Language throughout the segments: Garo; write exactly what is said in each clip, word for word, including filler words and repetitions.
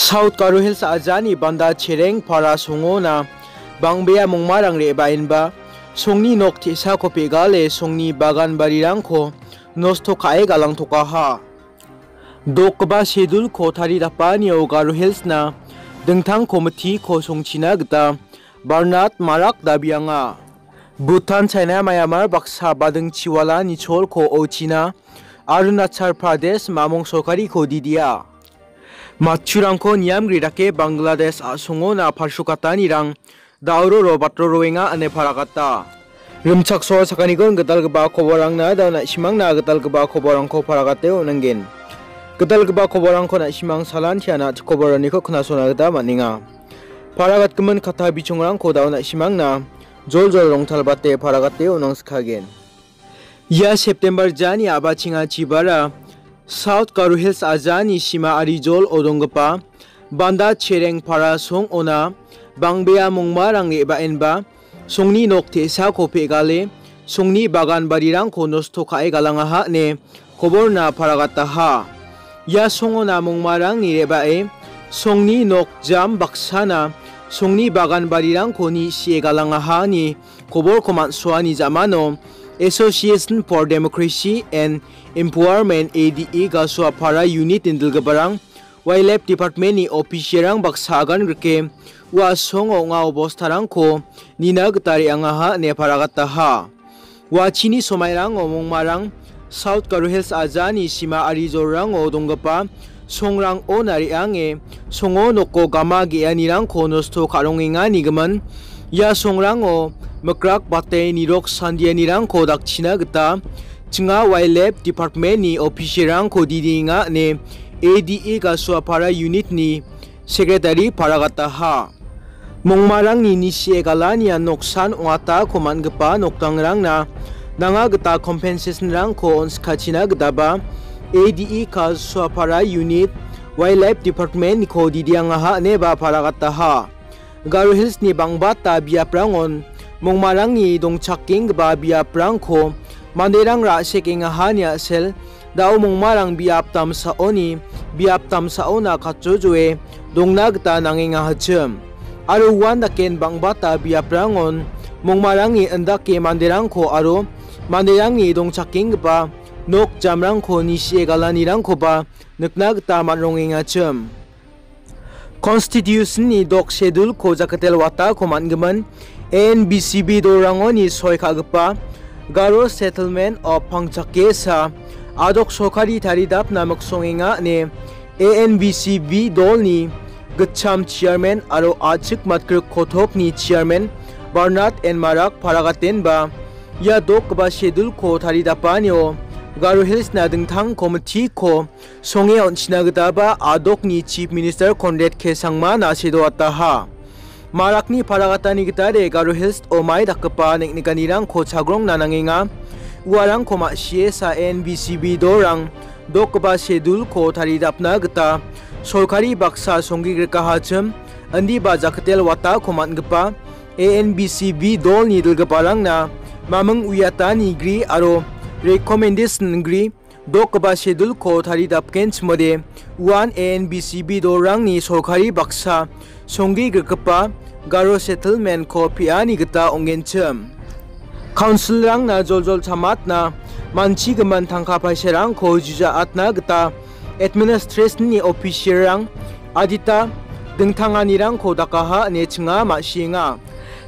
South Garo Hills ajani Banda Chereng para songona bang·bea mongmarang re·baenba songni nok te·sako pegale songni bagan barirangko nosto ka·e galangtokaha. Dokgipa schedule-ko taridapanio Garo Hills-na dingtang komitiko songchina gita Barnard Marak dabianga. Bhutan, China, Myanmar baksa bading chiwala nicholko ochina Arunachal Pradesh mamong sorkariko didia. Matchurangko niamgri dake Bangladesh a·songona palsukatanirang dauroro batroroenga ine paragata. Rimchaksoa sakanigon gitalgipa koborangna dao na·simangna gitalgipa koborangko paragate on·angen. Gitalgipa koborangko na·simang salantiana koboraniko knasona gita man·enga. Paragatgimin katta bichongrangko dao na·simangna joljol rongtalbate paragate on·angskagen. Ia September jani a·bachengachibara South Garo Hills ajani sima arijol odonggipa Banda Chereng para song ona bang·bea mongmarang re·baenba songni nok te·sako pegale songni bagan barirangko nosto ka·e galangaha ine koborna paragataha. Ia songona mongmarangni re·bae songni nok jam baksana songni bagan barirangko ni sie galangaha ine koborko man·soani ja·mano Association for Democracy and Empowerment, A D E, Gasuapara unit-ni dilgiparang Wildlife Department-ni official-rang baksa agan rike ua songo ong·a obostarangko nina gita re·angaha ine paragataha. Ua chini somairango mongmarang South Garo Hills ajani sima arijolrango donggipa songrangona re·ange songo noko gama ge·anirangko nosto ka·rongengani gimin. Ia songrango mikrak bate nirok sandianirangko dakchina gita chinga Wildlife Department-ni official-rangko didienga ine A D E Gasuapara unit-ni secretary paragataha. Mongmarangni nisie galanian noksan ong·atako man·gipa nokdangrangna nanga gita compensation-rangko on·sikachina gitaba A D E Gasuapara unit Wildlife Department-niko didiangaha ineba paragataha. Garo Hills-ni bangbata biaprangon mongmarangni dongchakenggipa biaprangko manderang ra·sekengahani a·sel, dao mongmarang biap damsaoni, biap damsaona katjojoe dongna gita nangengahachim. Aro uan daken bangbata biaprangon mongmarangni indake manderangko aro manderangni dongchakenggipa nok jamrangko nisie galanirangkoba nikna gita man·rongengachim. Constitution-ni dok schedule-ko jaketel watako man·gimin A N B C B dolrangoni soi ka·gipa Garo Settlement of Pangchakesa a·dok sorkari taridapna miksongenga ine A N B C B dolni gitcham chairman aro a·chik matgrik kotokni chairman Barnard N Marak paragatenba ia dokgipa schedule-ko taridapanio Garo Hills-na dingtang komitiko songe on·china gitaba a·dokni Chief Minister Conrad K Sangma na·sedoataha. Marakni paragatani gitade Garo Hills-o mai dakgipa neng·nikanirangko chagrongna nangenga. Uarangko ma·sie sa N B C B dolrang dokgipa schedule-ko taridapna gita sorkari baksa songgigrikahachim, indiba jaketel watako man·gipa A N B C B dolni dilgiparangna maming uiatani gri aro recommendation gri dokgipa schedule-ko taridapgenchimode uan A N B C B dolrangni sorkari baksa songgigrikgipa Garo Settlement-ko pe·ani gita ong·genchim. Council-rangna joljol chamatna manchigimin tangka paisarangko juja atna gita administration-ni official-rang adita dingtanganirangko dakaha ine chinga ma·sienga.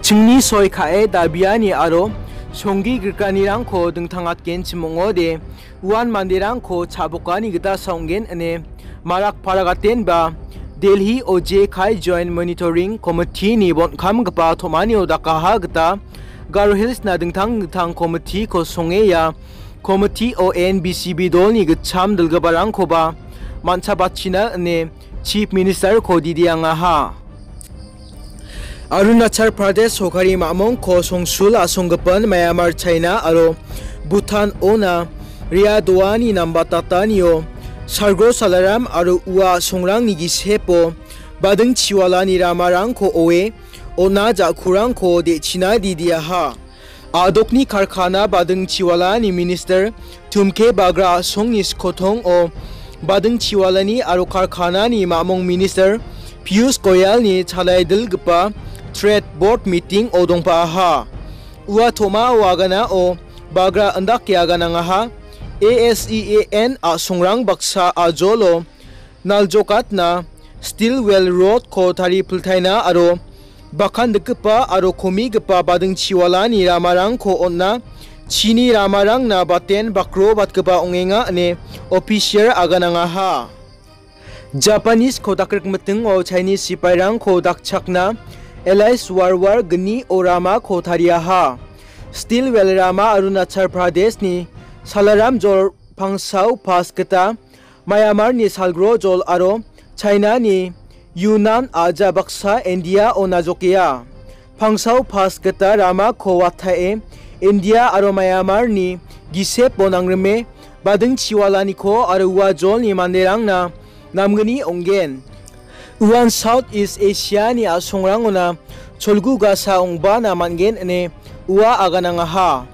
Chingni soi ka·e dabiani aro songgi grikanirangko dingtangatgenchim ong·ode, uan manderangko cha·bokani gita saongen ine Marak paragatenba Delhi O J Kai Joint Monitoring Committee-ni bon·kamgipa tom·anio dakaha gita Garo Hills-na dingtang dingtang komitiko songeya, komitio N B C B dolni gitcham dilgiparangkoba man·chabachina ine Chief Minister-ko didiangaha. Arunachal Pradesh sorkari mamongko songsul a·songgipin Myanmar, China aro Bhutan-ona ria doani nambatatanio salgro salaram aro ua songrangni gisepo bading chiwalani ramarangko oe on·a ja·kurangko de·china didiaha. A·dokni karkana bading chiwalani minister Tumke Bagra a·songni skotongo bading chiwalani aro karkanani mamung minister Piyush Goyalni chalaidilgipa trade board meeting-o dongpaaha. Ua tomao aganao bagra indake aganangaha. A S E A N a·songrang baksa ajolo naljokatna Steel Well Road-ko taripiltaina aro bakandikgipa aro komigipa bading chiwalani ramarangko on·a. Chini ramarangna baten bakrobatgipa ong·enga ine official aganangaha. Japanese-ko dakrikmitingo Chinese sipairangko dakchakna L I S warwar gnio ramako tariaha. Steel Well rama Arunachal Pradeshni Salaram jol Pangsau Pass gita Myanmarni salgro jol aro China-ni Yunnan a·ja baksa India-o najokea. Pangsau Pass gita ramako watae India aro Myanmarni gisepo nangrime bading chiwalaniko aro ua jolni manderangna namgni ong·gen. Uan South East Asia-ni a·songrangona cholgugasa ong·bana man·gen ine ua aganangaha.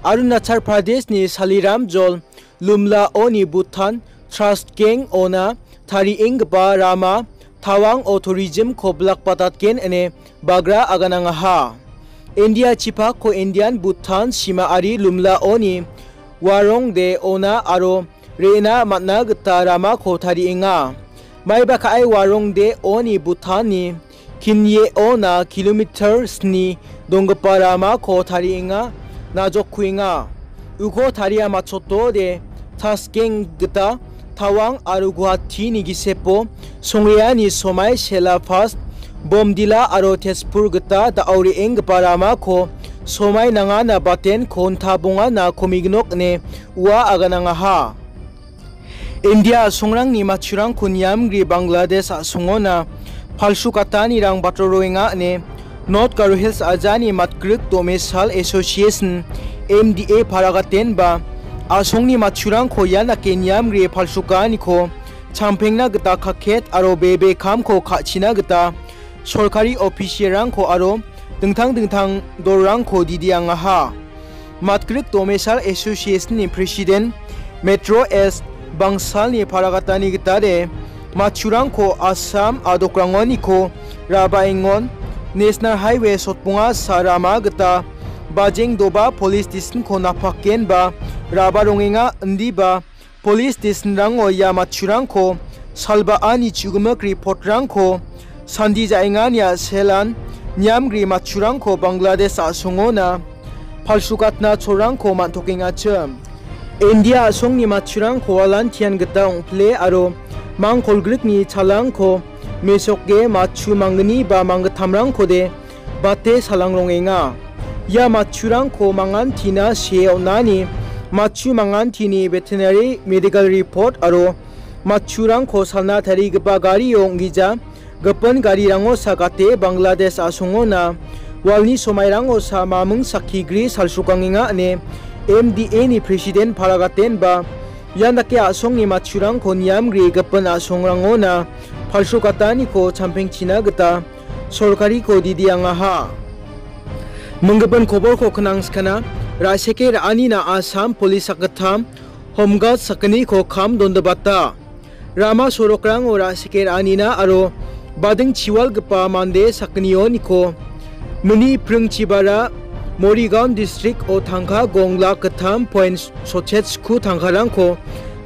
Arunachal Pradeshni Saliram jol Lumlaoni Bhutan Trust Gang-ona tarienggipa rama Tawang-o tourism-ko bilakbatatgen ine bagra aganangaha. India chipako Indian Bhutan sima ari Lumlaoni Warongde-ona aro re·na man·na gita ramako tarienga. Maiba ka·e Warongde-oni Bhutan-ni Kinye-ona kilometer sni donggipa ramako tarienga, najokkuenga. Uko taria matchotode Taskeng gita Tawang aro Guwahati-ni gisepo songreani somai Sela Pass, Bomdila aro Tezpur gita da·o re·enggipa ramako somai nangana baten konta bongana komignok ine ua aganangaha. India a·songrangni matchurangko niamgri Bangladesh a·songona palsukatanirang batroroenga ine North Garo Hills ajani matgrik domesal Association, M D A paragatenba a·songni matchurangko ian dake niamgri palsukaaniko champengna gita kaket aro bebe kamko ka·china gita sorkari officialrangko aro dingtang dingtang dolrangko didiangaha. Matgrik Domesal Association-ni President Metro S Bangsalni paragatani gitade matchurangko Assam a·dokrangoniko rabaengon National Highway sotbonga sa rama gita Bajeng Doba Police Station-ko napakenba raba rongenga indiba Police station-rango ia matchurangko salbaani chugimik report-rangko sandi ja·engania selan niamgri matchurangko Bangladesh a·songona palsukatna cholrangko man·tokengachim. India a·songni matchurangko walantian gita ong·pile aro mangkolgrikni chalangko mesoke matchu manggni ba manggittamrangkode bate salang rongenga. Ia matchurangko mangantina see on·ani, matchu mangantini veterinary medical report aro matchurangko salna tarigipa gario ong·gija gipin garirango sagate Bangladesh a·songona walni somairango sa maming sakki gri salsrokangenga ine M D A-ni president paragatenba ian dake a·songni matchurangko niamgri gipin a·songrangona palsrokataniko champengchina gita sorkariko didiangaha. Minggipin koborko knangskana, ra·seke ra·anina Assam Police sakgittam, Home Guard sakgniko kam dondibata. Rama sorokrango ra·seke ra·anina aro bading chiwalgipa mande sakgnioniko mini pringchibara Morigaon district-o tangka gong lak gittam point sotchet sku tangkarangko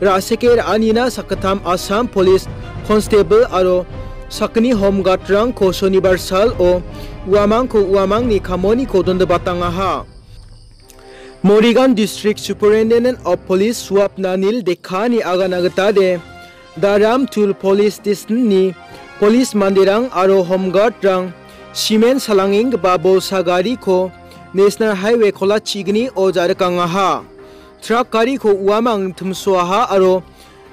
ra·seke ra·anina sakgittam Assam Police Constable aro sakgni Home Guard-rangko Sonibar sal-o uamangko uamangni kamoniko dondibatangaha. Morigaon District Superintendent of Police Suap Nanil Dekkani agana gitade Daram Tul Police Station-ni police manderang aro Home Guard-rang cement salangenggipa bolsa gariko National Highway kolachignio ja·rikangaha. Truck gariko uamang timsoaha aro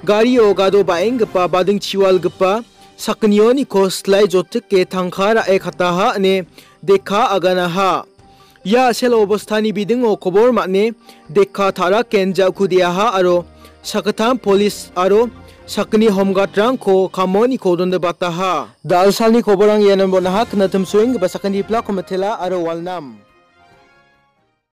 gario gado ba·enggipa bading chiwalgipa sakgnioniko silai jotike tangka ra·e kataha ine Dekka aganaha. Ia a·sel obostani bidingo kobor man·e Dekka ta·raken ja·kudeaha aro sakgittam polis aro sakgni Home Guard-rangko kamoniko dondibataha. Da·alsalni koborrang iano bon·aha, knatimsoenggipa sakgni plako mitela aro walnam.